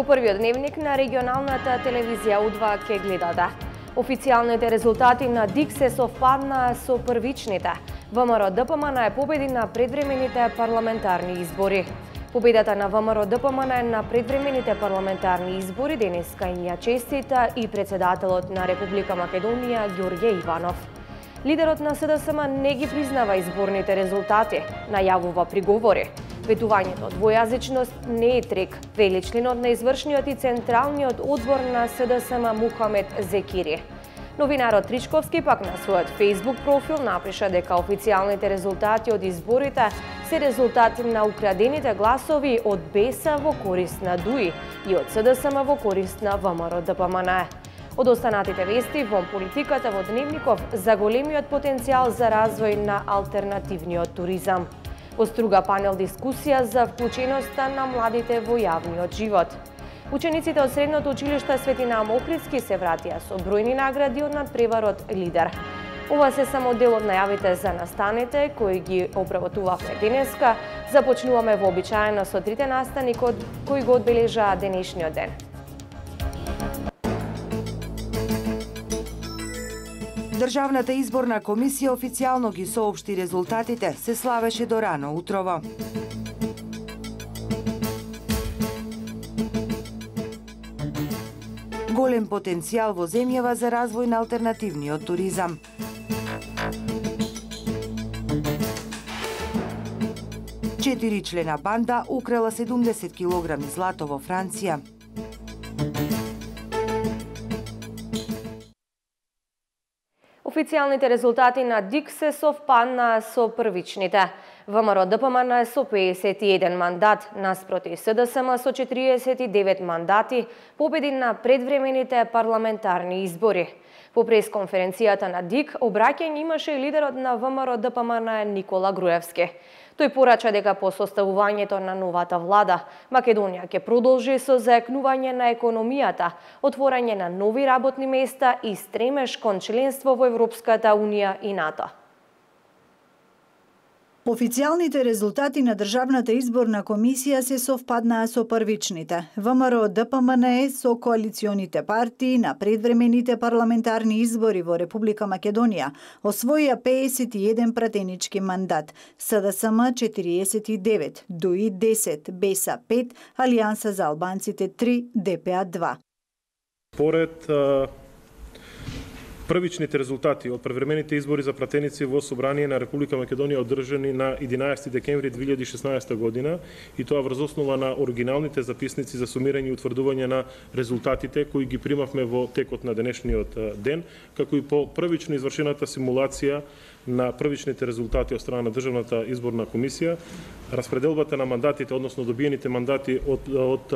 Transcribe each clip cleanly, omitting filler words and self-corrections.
Во првиот дневник на регионалната телевизија У2 ке гледате. Официјалните резултати на ДИК се совпаднаа со првичните. ВМРО-ДПМН победи на предвремените парламентарни избори. Победата на ВМРО-ДПМН на предвремените парламентарни избори денеска им ја честита и председателот на Република Македонија Ѓорѓе Иванов. Лидерот на СДСМ не ги признава изборните резултати, најавува приговори. Ветувањето двојазичност не е трик, вели членот на извршниот и централниот одбор на СДСМ Мухамед Зекири. Новинарот Тричковски пак на својот Facebook профил напиша дека официјалните резултати од изборите се резултат на украдените гласови од БЕСА во корист на ДУИ и од СДСМ во корист на ВМРО-ДПМН. Од останатите вести во политиката во Дневников за големиот потенцијал за развој на алтернативниот туризам. Во струга панел дискусија за вклученоста на младите во јавниот живот. Учениците од Средното училиште Светина Охридски се вратија со бројни награди од надпреварот Лидер. Ова се само дел од најавите за настаните кои ги обработувавме денеска. Започнуваме вообичаено со трите настани кои го одбележаа денешниот ден. Државната изборна комисија официјално ги соопшти резултатите, се славеше до рано утрово. Голем потенцијал во земјава за развој на алтернативниот туризам. Четиричлена банда украла 70 килограми злато во Франција. Официјалните резултати на ДИК се совпаднаа со првичните. ВМРО-ДПМН со 51 мандат, наспроти СДСМ со 49 мандати, победи на предвремените парламентарни избори. По пресконференцијата на ДИК, обраќање имаше и лидерот на ВМРО-ДПМН Никола Груевски. Тој порача дека по составувањето на новата влада, Македонија ќе продолжи со заекнување на економијата, отворање на нови работни места и стремеж кон членство во Европската Унија и НАТО. Официјалните резултати на Државната изборна комисија се совпаднаа со првичните. ВМРО-ДПМН со коалиционите партии на предвремените парламентарни избори во Република Македонија освоија 51 пратенички мандат, СДСМ 49, ДУИ 10, БЕСА 5, Алијанса за албанците 3, ДПА 2. Поред првичните резултати од превремените избори за пратеници во Собрание на Република Македонија одржани на 11 декември 2016 година и тоа врз основа на оригиналните записници за сумирање и утврдување на резултатите кои ги примавме во текот на денешниот ден, како и по првично извршената симулација на првичните резултати од страна на Државната изборна комисија, распределбата на мандатите, односно добиените мандати од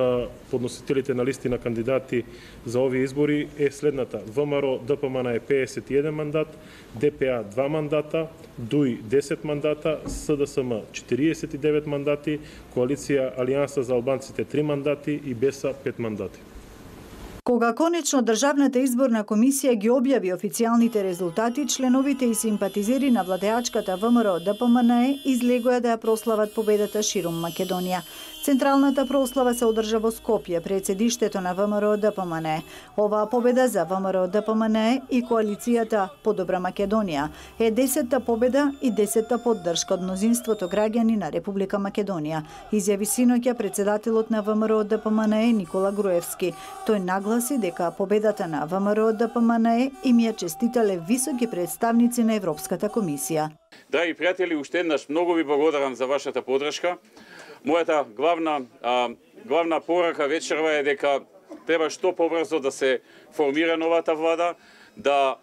подносителите на листи на кандидати за овие избори е следната. ВМРО-ДПМН е 51 мандат, ДПА 2 мандата, ДУИ 10 мандата, СДСМ 49 мандати, Коалиција Алијанса за албанците 3 мандати и БЕСА 5 мандати. Кога конечно Државната изборна комисија ги објави официјалните резултати, членовите и симпатизери на владеачката ВМРО-ДПМН излегоа да ја прослават победата ширум Македонија. Централната прослава се одржа во Скопје пред седиштето на ВМРО-ДПМН. Оваа победа за ВМРО-ДПМН и коалицијата Подобра Македонија е 10-та победа и 10-та поддршка од мнозинството граѓани на Република Македонија, изјави синоќа председателот на ВМРО-ДПМН Никола Груевски. Тој нагласи дека победата на ВМРО-ДПМН им ја честитале високи представници на Европската комисија. Драги пријатели, уште еднаш многу ви благодарам за вашата поддршка. Мојата главна порака вечерва е дека треба што побрзо да се формира новата влада, да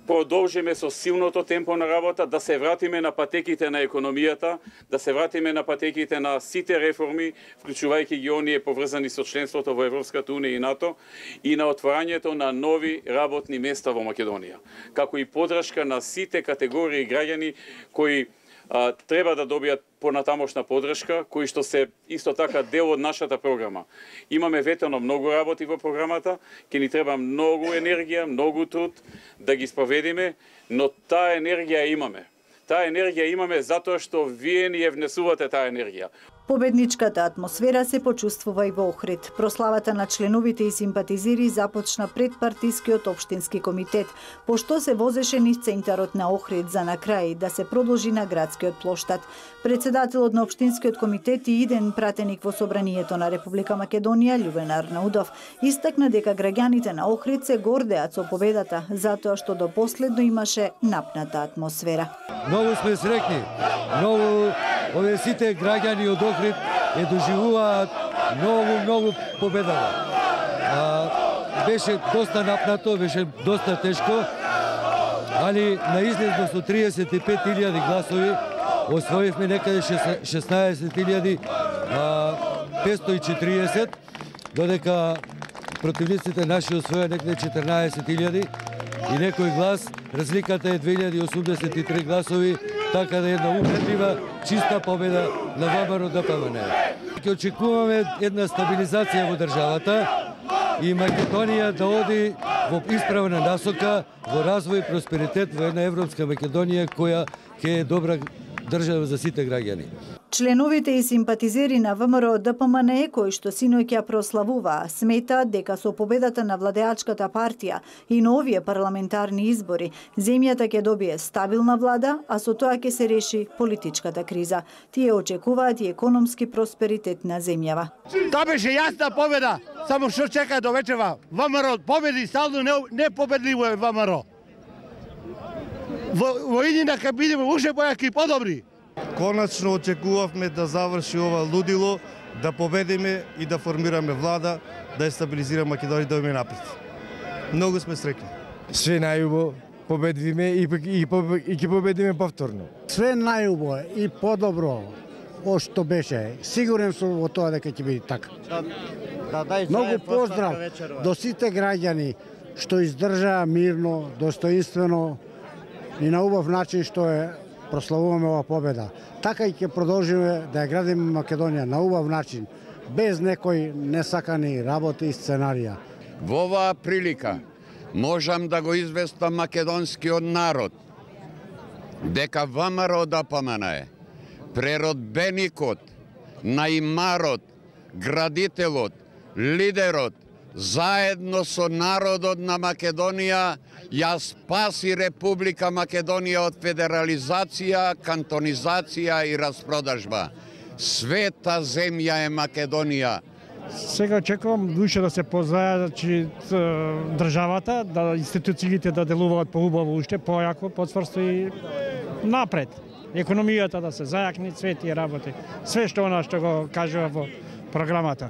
продолжиме со силното темпо на работа, да се вратиме на патеките на економијата, да се вратиме на патеките на сите реформи, вклучувајќи ги оние поврзани со членството во Европската Унија и НАТО и на отворањето на нови работни места во Македонија, како и поддршка на сите категории граѓани кои треба да добијат понатамошна поддршка, кои што се исто така дел од нашата програма. Имаме ветено многу работи во програмата, ќе ни треба многу енергија, многу труд да ги спроведиме, но таа енергија имаме. Таа енергија имаме затоа што вие ни ја внесувате таа енергија. Победничката атмосфера се почувствува и во Охрид. Прославата на членовите и симпатизери започна пред партискиот општински комитет, пошто се возеше низ центарот на Охрид за на крај да се продолжи на градскиот плоштад. Председателот на општинскиот комитет и иден пратеник во Собранието на Република Македонија, Љубен Арнаудов, истакна дека граѓаните на Охрид се гордеат со победата, затоа што до последно имаше напната атмосфера. Многу сме среќни, многу овие сите граѓани од Охрид ја доживуваат многу победава. Беше доста напнато, беше доста тешко, али на излезно со 35.000 гласови освоивме некаде 16.540, додека противниците наши освоја некаде 14.000 и некој глас, разликата е 2083 гласови, така да е една убедлива, чиста победа на ВМРО ДПМН. Ќе очекуваме една стабилизација во државата и Македонија да оди во исправна насока, во развој и просперитет во една европска Македонија која ќе е добра држава за сите граѓани. Членовите и симпатизери на ВМРО ДПМН, кои што синоќа прославуваа, сметаат дека со победата на владеачката партија и на овие парламентарни избори, земјата ќе добие стабилна влада, а со тоа ќе се реши политичката криза. Тие очекуваат и економски просперитет на земјава. Тоа беше јасна победа, само што чека до вечера. ВМРО победи, стално непобедливо е ВМРО. Во иднина ка бидеме уште појаки и подобри. Коначно очекувавме да заврши ова лудило, да победиме и да формираме влада, да ја стабилизира Македонија да име напред. Многу сме среќни. Све најубаво, победиме и ќе победиме повторно. Све најубаво и подобро од што беше. Сигурен сум во тоа дека ќе биде така. Многу поздрав до сите граѓани што издржаа мирно, достоинствено и на убав начин што е прославуваме ова победа. Така и ќе продолжиме да ја градиме Македонија на убав начин, без некои несакани работи и сценарија. Во оваа прилика можам да го известам македонскиот народ дека ВМРО ДПМН преродбеникот, наимарот, градителот, лидерот, заедно со народот на Македонија ја спаси Република Македонија од федерализација, кантонизација и распродажба. Света земја е Македонија. Сега очекувам душе да се позајачи државата, да институциите да делуваат поубаво уште, појако, поцврсто и напред. Економијата да се зајакни, све тие работи. Све што она што го кажува во програмата.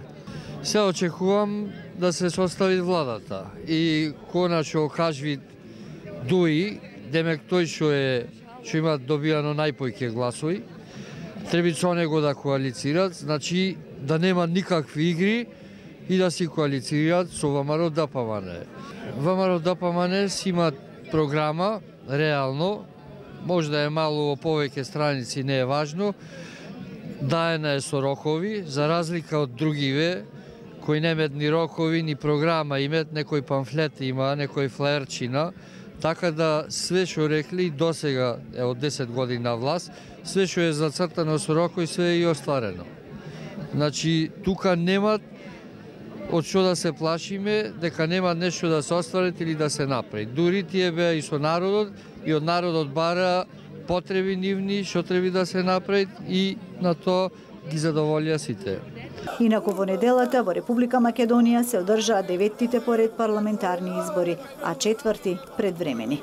Се очекувам да се состави владата и конечно Хажвид Дуи, демек тој што има добијано најпојќе гласови, треба со него да коалицираат, значи да нема никакви игри и да си коалицираат со ВМРО ДПМН. ВМРО ДПМН си има програма, реално, може да е мало во повеќе страници, не е важно, даена е со рокови, за разлика од другиве, кои немат ни рокови, ни програма имат, некој памфлет има, некој флаерчина, така да све што рекли до сега е од 10 години на власт, све што е зацртано со рокови, све е и остварено. Значи, тука нема од што да се плашиме, дека нема нешто да се остварат или да се направи. Дури тие беа и со народот, и од народот бара потреби нивни, што треба да се направи и на тоа ги задоволија сите. Инаку во неделата во Република Македонија се одржаа 9-тите поред парламентарни избори, а 4-ти предвремени.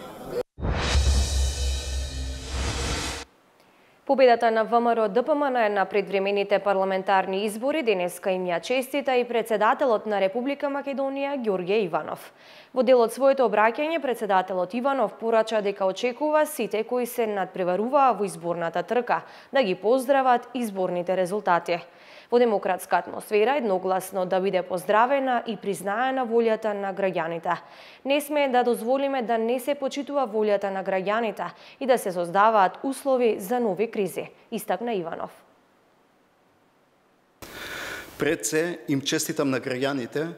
Победата на ВМРО ДПМН на предвремените парламентарни избори денеска им ја честита и председателот на Република Македонија Ѓорѓе Иванов. Во дел од своето обраќање, председателот Иванов порача дека очекува сите кои се надпреваруваа во изборната трка да ги поздрават изборните резултати. Во демократска атмосфера едногласно да биде поздравена и признаена волјата на граѓаните. Не сме да дозволиме да не се почитува волјата на граѓаните и да се создаваат услови за нови кризи, истакна Иванов. Пред се им честитам на граѓаните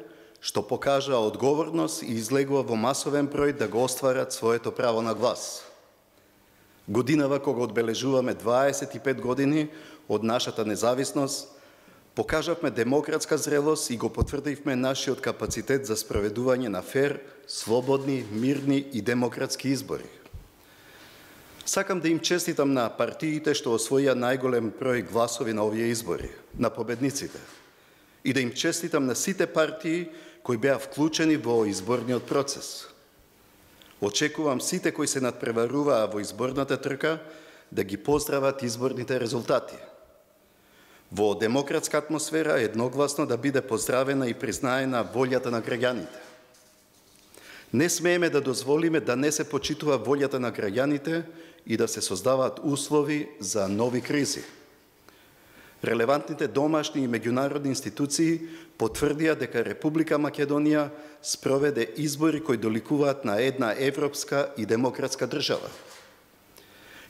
што покажаа одговорност и излегува во масовен број да го остварат своето право на глас. Годинава кога одбележуваме 25 години од нашата независност, покажавме демократска зрелост и го потврдивме нашиот капацитет за спроведување на фер, слободни, мирни и демократски избори. Сакам да им честитам на партиите што освоија најголем број гласови на овие избори, на победниците, и да им честитам на сите партии кои беа вклучени во изборниот процес. Очекувам сите кои се надпреваруваа во изборната трка да ги поздрават изборните резултати. Во демократска атмосфера едногласно да биде поздравена и признаена волјата на граѓаните. Не смееме да дозволиме да не се почитува волјата на граѓаните и да се создаваат услови за нови кризи. Релевантните домашни и меѓународни институции потврдија дека Република Македонија спроведе избори кои доликуваат на една европска и демократска држава.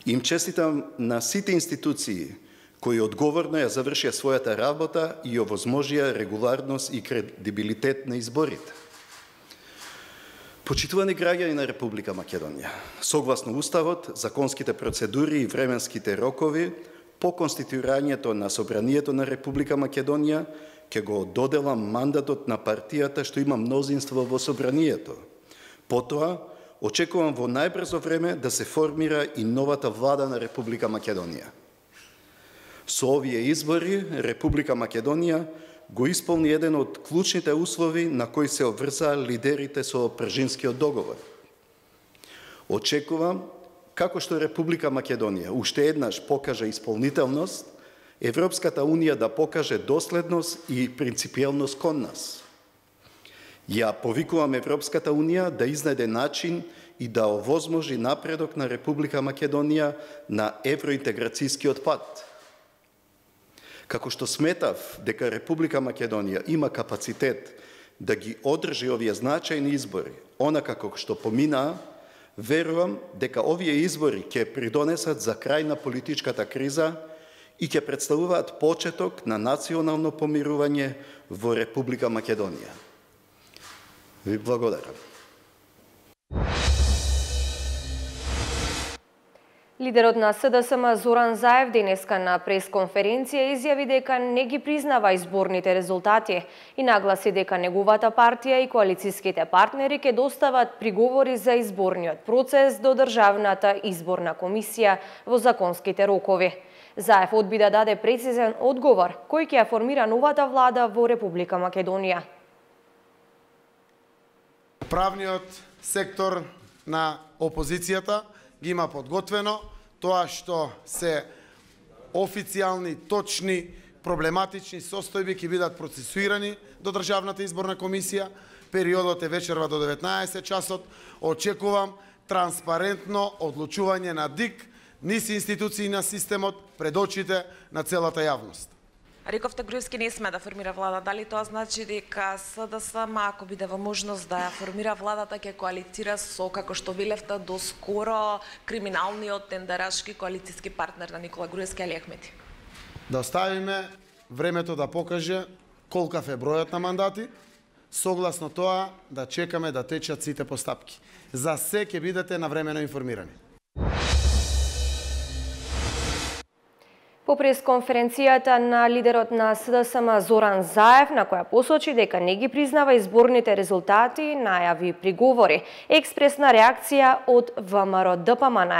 Им честитам на сите институции кои одговорно ја завршија својата работа и овозможија регуларност и кредибилитет на изборите. Почитувани граѓани на Република Македонија, согласно Уставот, законските процедури и временските рокови, по конституирањето на Собранието на Република Македонија, ќе го доделам мандатот на партијата што има мнозинство во Собранието. Потоа, очекувам во најбрзо време да се формира и новата влада на Република Македонија. Со овие избори, Република Македонија го исполни еден од клучните услови на кои се обврзаа лидерите со Пржинскиот договор. Очекувам, како што Република Македонија уште еднаш покаже исполнителност, Европската Унија да покаже доследност и принципиелност кон нас. Ја повикувам Европската Унија да изнајде начин и да овозможи напредок на Република Македонија на евроинтеграцијскиот пат. Како што сметав дека Република Македонија има капацитет да ги одржи овие значајни избори, онака како што поминаа, верувам дека овие избори ќе придонесат за крај на политичката криза и ќе представуваат почеток на национално помирување во Република Македонија. Ви благодарам. Лидерот на СДСМ Зоран Заев денеска на пресконференција изјави дека не ги признава изборните резултати и нагласи дека неговата партија и коалицијските партнери ќе достават приговори за изборниот процес до Државната изборна комисија во законските рокови. Заев одби да даде прецизен одговор кој ќе ја формира новата влада во Република Македонија. Правниот сектор на опозицијата ги има подготвено тоа што се официјални, точни, проблематични состојби ќе бидат процесуирани до Државната изборна комисија. Периодот е вечерва до 19 часот. Очекувам транспарентно одлучување на ДИК низ институции на системот пред очите на целата јавност. Рековте Груевски не сме да формира влада. Дали тоа значи дека СДСМ, ако биде во можност да ја формира владата, ќе коалицира со, како што велевте доскоро, криминалниот тендерашки коалицијски партнер на Никола Груевски, Али Ахмети? Да оставиме времето да покаже колкав е бројот на мандати, согласно тоа да чекаме да течат сите постапки. За се ќе бидете навремено информирани. По пресконференцијата на лидерот на СДСМ Зоран Заев, на која посочи дека не ги признава изборните резултати, најави приговори. Експресна реакција од ВМРО ДПМН.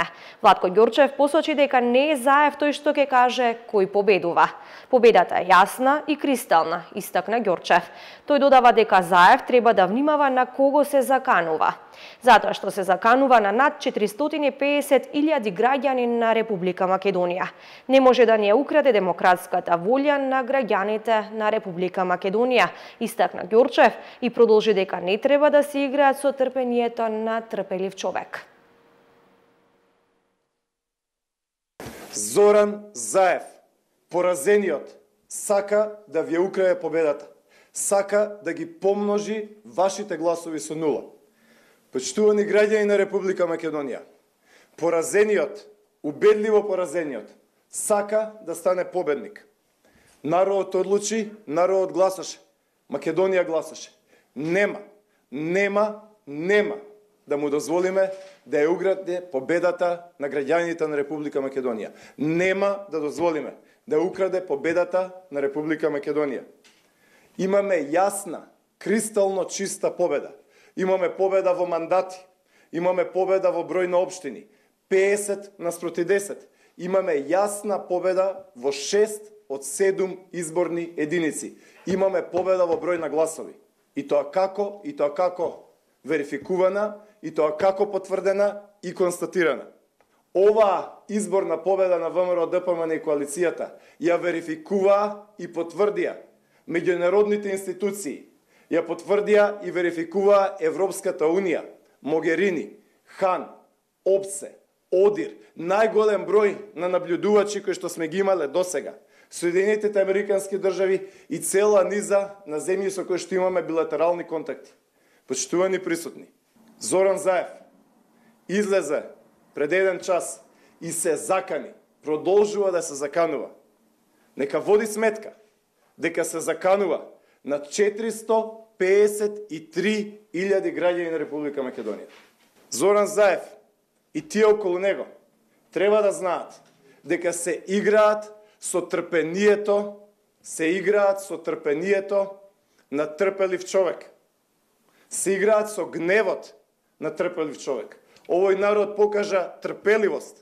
Владко Ѓорчев посочи дека не е Заев тој што ќе каже кој победува. Победата е јасна и кристална, истакна Ѓорчев. Тој додава дека Заев треба да внимава на кого се заканува. Затоа што се заканува на над 450.000 граѓани на Република Македонија. Не може да ни ја украде демократската волја на граѓаните на Република Македонија, истакна Ѓорчев и продолжи дека не треба да се играат со трпението на трпелив човек. Зоран Заев, поразениот, сака да ви украде победата. Сака да ги помножи вашите гласови со нула. Почитувани граѓани на Република Македонија, поразениот, убедливо поразениот, сака да стане победник. Народот одлучи, народот гласаше. Македонија гласаше. Нема да му дозволиме да ја украде победата на граѓаните на Република Македонија. Нема да дозволиме да украде победата на Република Македонија. Имаме јасна, кристално чиста победа. Имаме победа во мандати, имаме победа во број на општини, 50 наспроти 10. Имаме јасна победа во 6 од 7 изборни единици. Имаме победа во број на гласови. И тоа како верификувана, и тоа како потврдена и констатирана. Оваа изборна победа на ВМРО, ДПМН и коалицијата ја верификуваа и потврдија меѓународните институции, ја потврдија и верификуваа Европската Унија, Могерини, Хан, ОПСЕ, ОДИР, најголем број на наблюдувачи кои што сме ги имале досега, Соединетите Американски држави и цела низа на земји со кои што имаме билатерални контакти. Почитувани присутни, Зоран Заев излезе пред еден час и се закани, продолжува да се заканува. Нека води сметка дека се заканува на 453.000 граѓани на Република Македонија. Зоран Заев и тие околу него треба да знаат дека се играат со трпението на трпелив човек. Се играат со гневот на трпелив човек. Овој народ покажа трпеливост,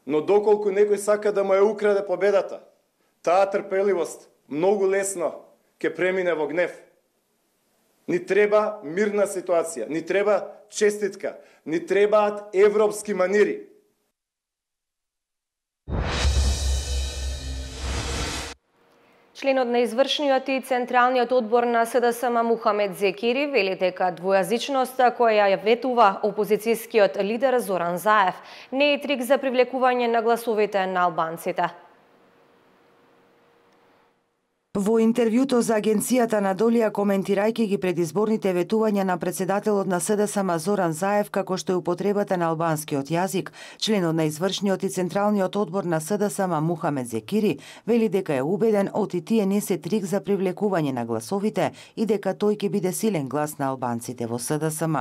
но доколку некој сака да му ја украде победата, таа трпеливост многу лесно ќе премине во гнев. Ни треба мирна ситуација, ни треба честитка, ни требаат европски манири. Членот на извршниот и Централниот одбор на СДСМ Мухамед Зекири вели дека двојазичноста која ја ветува опозицијскиот лидер Зоран Заев не е трик за привлекување на гласовите на албанците. Во интервјуто за агенцијата Надолија, коментирајќи ги предизборните ветувања на председателот на СДСМ Зоран Заев како што е употребата на албанскиот јазик, членот на извршниот и Централниот одбор на СДСМ Мухамед Зекири вели дека е убеден тие не се трик за привлекување на гласовите и дека тој ќе биде силен глас на албанците во СДСМ.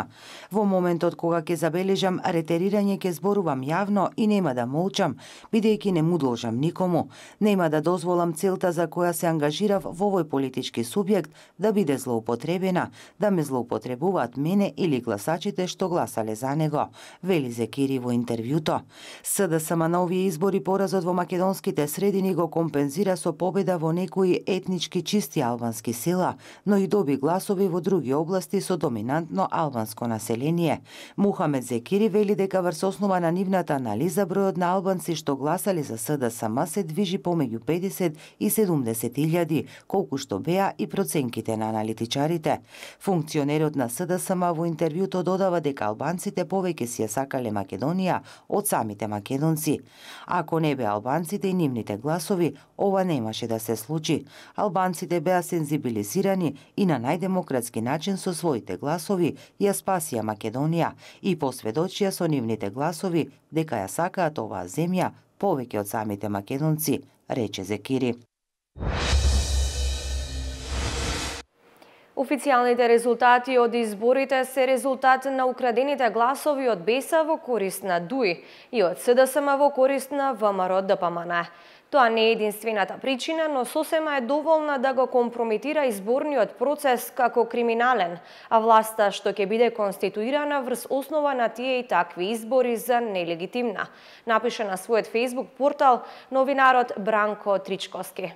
Во моментот кога ќе забележам ретерирање ќе зборувам јавно и нема да молчам, бидејќи не му должам никому. Нема да дозволам целта за која се ангажирав во овој политички субјект да биде злоупотребена, да ме злоупотребуваат мене или гласачите што гласале за него, вели Зекири во интервјуто. СДСМ на овие избори поразот во македонските средини го компензира со победа во некои етнички чисти албански села, но и доби гласови во други области со доминантно албанско население. Мухамед Зекири вели дека врз основа на нивната анализа бројот на албанци што гласали за СДСМ се движи помеѓу 50 и 70.000, колку што беа и проценките на аналитичарите. Функционерот на СДСМ во интервјуто додава дека албанците повеќе си ја сакале Македонија од самите македонци. Ако не беа албанците и нивните гласови, ова немаше да се случи. Албанците беа сензибилизирани и на најдемократски начин со своите гласови ја спасија Македонија и посведочија со нивните гласови дека ја сакаат оваа земја повеќе од самите македонци, рече Зекири. Официјалните резултати од изборите се резултат на украдените гласови од БЕСА во корист на ДУИ и од СДСМ во корист на ВМРО ДПМН. Тоа не е единствената причина, но сосема е доволна да го компрометира изборниот процес како криминален, а власта што ќе биде конституирана врз основа на тие и такви избори за нелегитимна, напиша на својот Facebook портал новинарот Бранко Тричковски.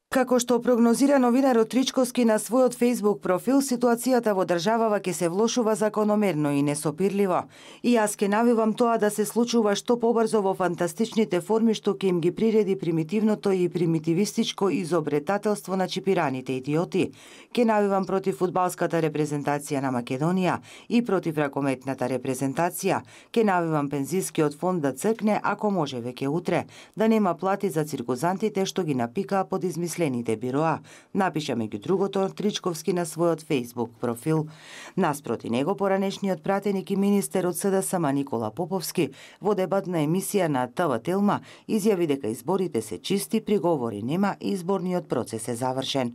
Како што прогнозира новинарот Тричковски на својот Facebook профил, ситуацијата во државава ќе се влошува закономерно и несопирливо. И јас ќе навивам тоа да се случува што побрзо во фантастичните форми што ќе им ги приреди примитивното и примитивистичко изобретателство на чипираните идиоти. Ќе навивам против фудбалската репрезентација на Македонија и против ракометната репрезентација. Ќе навивам пензискиот фонд да цркне, ако може веќе утре, да нема плати за циркузантите што ги напикаа под измислените бироа, напиша меѓу другото Тричковски на својот Facebook профил. Наспроти него, поранешниот пратеник и министер од СДСМ Никола Поповски во дебатна емисија на ТВ Телма изјави дека изборите се чисти, приговори нема и изборниот процес е завршен.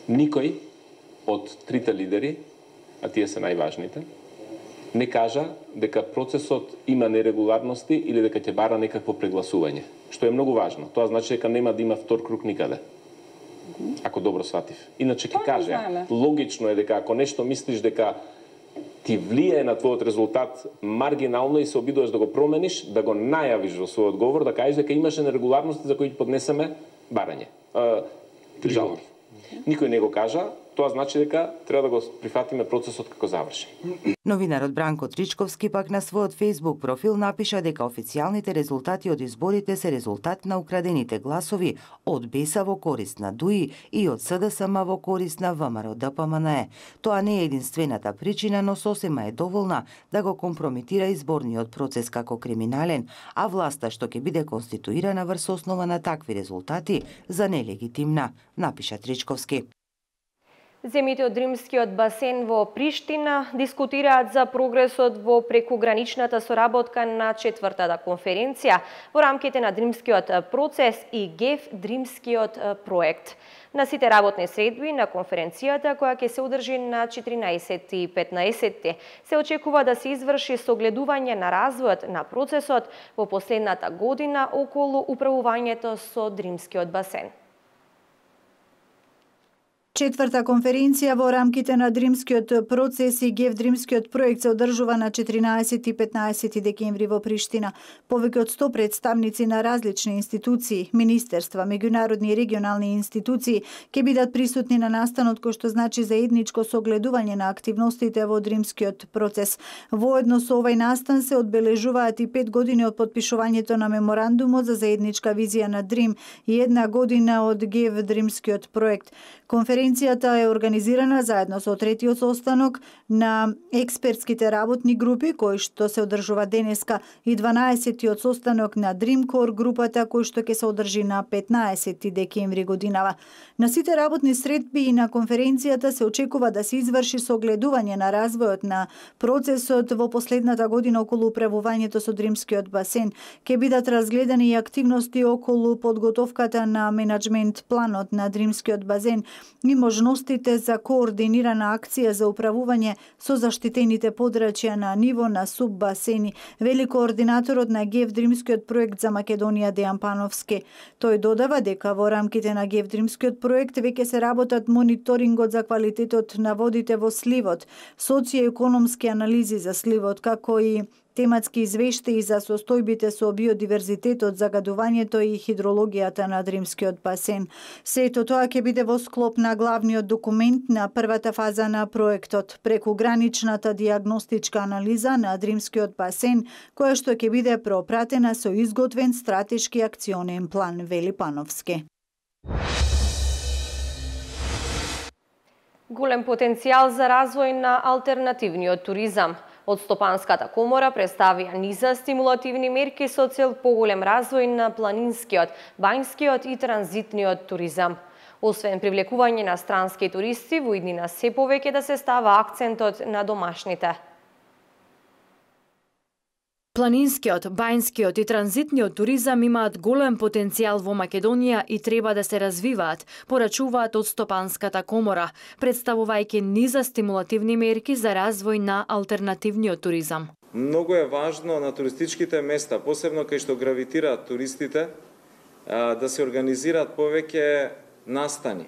Никој од трите лидери, а тие се најважните, не кажа дека процесот има нерегуларности или дека ќе бара некакво прегласување, што е многу важно. Тоа значи дека нема да има втор круг никаде. Ако добро сватив. Иначе ќе каже, логично е дека ако нешто мислиш дека ти влијае на твојот резултат маргинално и се обидуваш да го промениш, да го најавиш во својот говор, да кажеш дека имаше нерегуларности за кои поднесеме барање. Жалби. Никој не го кажа, тоа значи дека треба да го прифатиме процесот како завршен. Новинарот Бранко Тричковски пак на својот Facebook профил напиша дека официјалните резултати од изборите се резултат на украдените гласови од БЕСА во корист на ДУИ и од СДСМ во корист на ВМРО ДПМНЕ. Тоа не е единствената причина, но сосема е доволна да го компрометира изборниот процес како криминален, а власта што ќе биде конституирана врз основа на такви резултати за нелегитимна, напиша Тричковски. Земјите од Римскиот басен во Приштина дискутираат за прогресот во прекуграничната соработка на 4-та конференција во рамките на Дримскиот процес и ГЕФ Дримскиот проект. На сите работни средби на конференцијата, која ќе се одржи на 14 и 15, се очекува да се изврши согледување на развојот на процесот во последната година околу управувањето со Дримскиот басен. Четврта конференција во рамките на Дримскиот процес и ГЕФ Дримскиот проект се одржува на 14 и 15 декември во Приштина. Повеќе од 100 представници на различни институции, министерства, меѓународни и регионални институции ќе бидат присутни на настанот, кој што значи заедничко согледување на активностите во Дримскиот процес. Воедно со овај настан се одбележуваат и 5 години од подпишувањето на меморандумот за заедничка визија на Дрим и 1 година од ГЕФ Дримскиот проект. Конференцијата е организирана заедно со третиот состанок на експертските работни групи, кој што се одржува денеска, и 12-тиот состанок на Dreamcore групата, кој што ќе се одржи на 15 декември годинава. На сите работни средби и на конференцијата се очекува да се изврши согледување на развојот на процесот во последната година околу управувањето со Дримскиот басен. Ќе бидат разгледани и активности околу подготовката на менаџмент планот на Дримскиот басен и можностите за координирана акција за управување со заштитените подрачја на ниво на суббасени, вели координаторот на ГЕФ Дримскиот проект за Македонија Дејан Пановски. Тој додава дека во рамките на ГЕФ Дримскиот проект веќе се работат мониторингот за квалитетот на водите во сливот, социјоекономски анализи за сливот, како и тематски извештаи за состојбите со биодиверзитетот, загадувањето и хидрологијата на Дримскиот басен. Сето тоа ќе биде во склоп на главниот документ на првата фаза на проектот, прекуграничната дијагностичка анализа на Дримскиот басен, која што ќе биде пропратена со изготвен стратешки акционен план, вели Пановски. Голем потенцијал за развој на алтернативниот туризам. Од Стопанската комора представија низа стимулативни мерки со цел поголем развој на планинскиот, бањскиот и транзитниот туризам. Освен привлекување на странски туристи, во иднина се повеќе да се става акцентот на домашните. Планинскиот, бањскиот и транзитниот туризам имаат голем потенцијал во Македонија и треба да се развиваат, порачуваат од Стопанската комора, представувајќи низа стимулативни мерки за развој на алтернативниот туризам. Многу е важно на туристичките места, посебно кај што гравитираат туристите, да се организираат повеќе настани,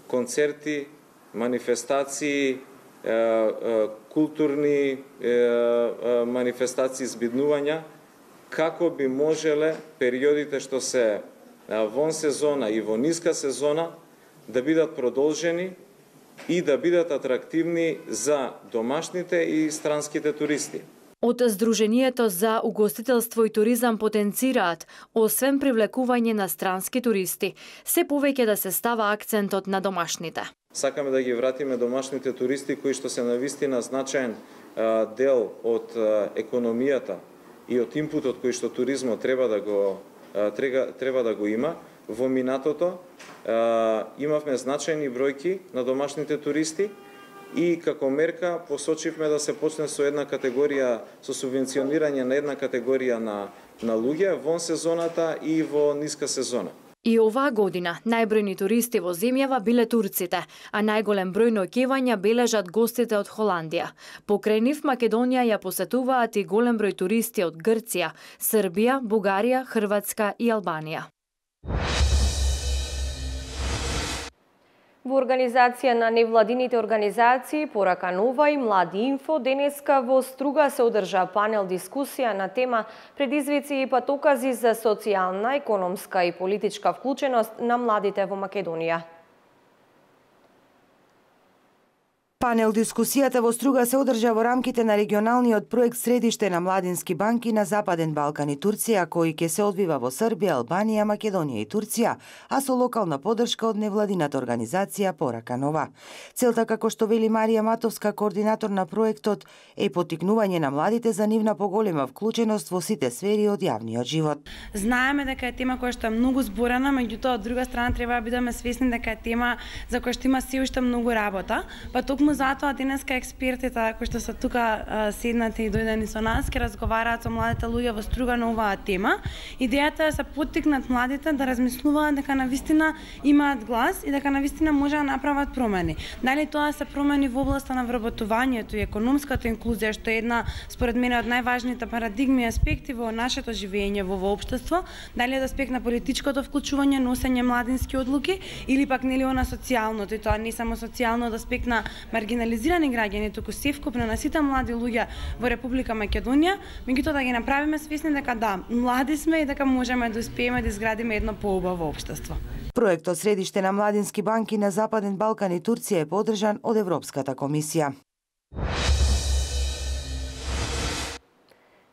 концерти, манифестации, културни манифестации, збиднувања, како би можеле периодите што се вон сезона и во ниска сезона да бидат продолжени и да бидат атрактивни за домашните и странските туристи. Од Сдруженијето за угостителство и туризам потенцираат, освен привлекување на странски туристи, се повеќе да се става акцентот на домашните. Сакаме да ги вратиме домашните туристи кои што се навистина значаен дел од економијата и од импутот кој што туризмот треба да го има. Во минатото имавме значајни бројки на домашните туристи и како мерка посочивме да се почне со една категорија, со субвенционирање на една категорија на луѓе вон сезоната и во ниска сезона. И оваа година најбројни туристи во земјава биле турците, а најголем број ноќевања бележат гостите од Холандија. Покрај нив Македонија ја посетуваат и голем број туристи од Грција, Србија, Бугарија, Хрватска и Албанија. Во организација на невладините организации Порака Нова и Млади Инфо денеска во Струга се одржа панел дискусија на тема предизвици и патокази за социјална, економска и политичка вклученост на младите во Македонија. Панел дискусијата во Струга се одржа во рамките на регионалниот проект Средиште на младински банки на Западен Балкан и Турција, кој ќе се одвива во Србија, Албанија, Македонија и Турција, а со локална подршка од невладината организација Порака Нова. Целта, како што вели Марија Матовска, координатор на проектот, е поттикнување на младите за нивна поголема вклученост во сите сфери од јавниот живот. Знаеме дека е тема која што е многу зборена, меѓутоа од друга страна треба да бидеме свесни дека е тема за која што има се уште многу работа, па токму затоа денеска експертите кои што се тука седнати и дојдени со нас ќе разговараат со младите луѓе во Струга на оваа тема. Идејата е да се поттикнат младите да размислуваат дека навистина имаат глас и дека навистина може да направат промени. Дали тоа се промени во областа на вработувањето и економската инклузија, што е една според мене од најважните парадигми и аспекти во нашето живење во општество, дали е аспект на политичкото вклучување, носење младински одлуки или пак нели она социјалното, и тоа не само социјално од аспект на маргинализирани граѓани, туку севкупно на сите млади луѓе во Република Македонија, меѓутоа да ги направиме свесни дека да, млади сме и дека можеме да успееме да изградиме едно поубаво општество. Проектот Средиште на младински банки на Западен Балкан и Турција е поддржан од Европската комисија.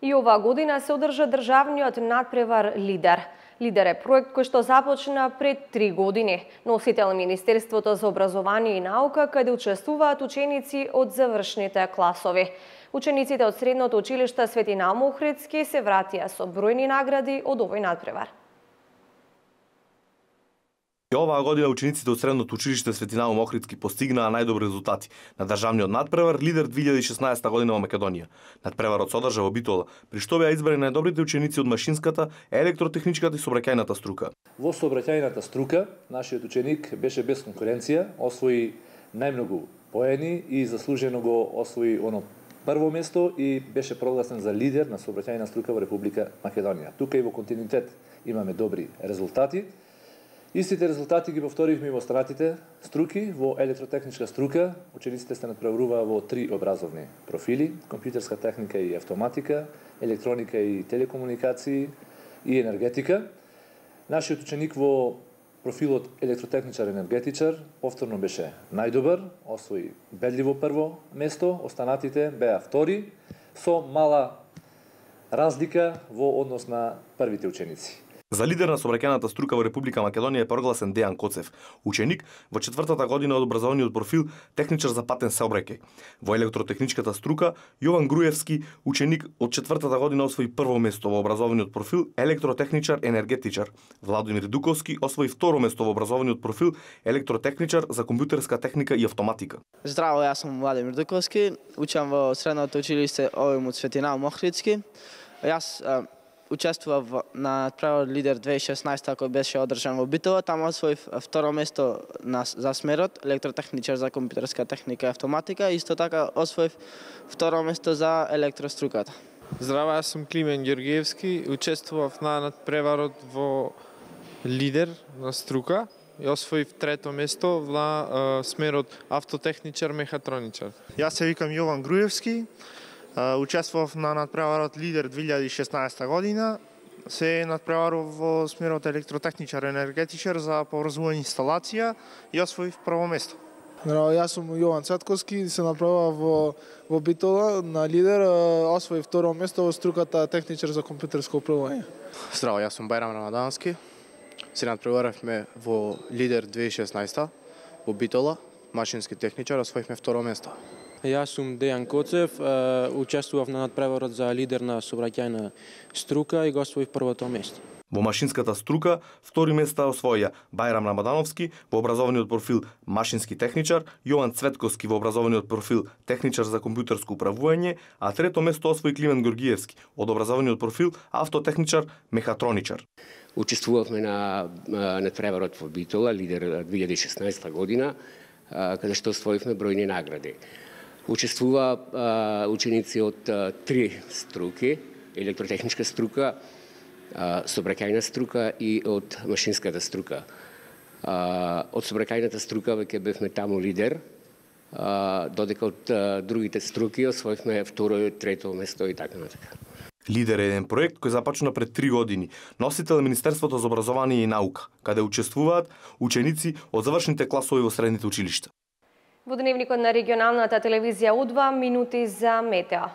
И оваа година се одржа државниот надпревар Лидер. Лидер е проект кој што започна пред 3 години. Носител Министерството за образование и наука, каде учествуваат ученици од завршните класови. Учениците од средното училиште Свети Наум Охридски се вратија со бројни награди од овој надпревар. Оваа година учениците од средното училиште Свети Наум Охридски постигнаа најдобри резултати на државниот надпревар Лидер 2016 година во Македонија. Надпреварот се одржа во Битола, при што беа избрани најдобрите ученици од машинската, електротехничката и сообраќајната струка. Во сообраќајната струка нашиот ученик беше без конкуренција, освои најмногу поени и заслужено го освои оно прво место и беше прогласен за лидер на сообраќајна струка во Република Македонија. Тука и во континуитет имаме добри резултати. Истите резултати ги повторивме и во останатите струки. Во електротехничка струка учениците се надпреваруваа во 3 образовни профили: компјутерска техника и автоматика, електроника и телекомуникации и енергетика. Нашиот ученик во профилот електротехничар-енергетичар повторно беше најдобар, освои бедливо прво место, останатите беа втори, со мала разлика во однос на првите ученици. За лидер на сообраќајната струка во Република Македонија е прогласен Дејан Коцев, ученик во 4-та година од образовниот профил техничар за патен сообраќај. Во електротехничката струка Јован Груевски, ученик од 4-та година освои прво место во образовниот профил електротехничар енергетичар. Владимир Дуковски освои второ место во образовниот профил електротехничар за компјутерска техника и автоматика. Здраво, јас сум Владимир Дуковски, учам во средното училиште ОМУ Свети Наум Охридски. Јас учествував на надпревар Лидер 2016 кој беше одржан во Битола, таму освоив второ место за смерот електротехничар за компјутерска техника и автоматика, исто така освоив второ место за електроструката. Здраво, јас сум Климен Ѓоргиевски, учествував на надпреварот во Лидер на струка и освоив трето место на смерот автотехничар мехатроничар. Јас се викам Јован Груевски. Учествував на надпреварот Лидер 2016 година. Се надпреварував во смерот електротехничар енергетичар за поврзување инсталација и освоив прво место. Здраво, јас сум Јован Цветковски, се надпреварував во Битола на Лидер, освоив второ место во струката техничар за компјутерско управување. Здраво, јас сум Бајрам Рамадански. Се надпреваравме во Лидер 2016 во Битола, машински техничар, освоивме второ место. Јас сум Дејан Коцев, учествував на надпреварот за лидер на сообраќајна струка и го освоив првото место. Во машинската струка, втори места освоја Бајрам Рамадановски во образованиот профил машински техничар, Јован Цветковски во образованиот профил техничар за компјутерско управување, а трето место освои Климен Георгиевски од образованиот профил автотехничар мехатроничар. Учествувавме на надпреварот во Битола, лидер 2016 година, каде што освоивме бројни награди. Учествува ученици од три струки, електротехничка струка, сообраќајна струка и од машинската струка. Од сообраќајната струка веќе бевме таму лидер, додека од другите струки освоивме второ и трето место и така натака. Лидер е еден проект кој започна пред 3 години. Носител е Министерството за образование и наука, каде учествуваат ученици од завршните класови во средните училишта. Во дневникот на регионалната телевизија У2 минути за метео.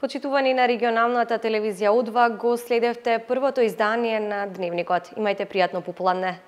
Почитувани на регионалната телевизија У2, го следевте првото издание на Дневникот. Имајте пријатно попладне.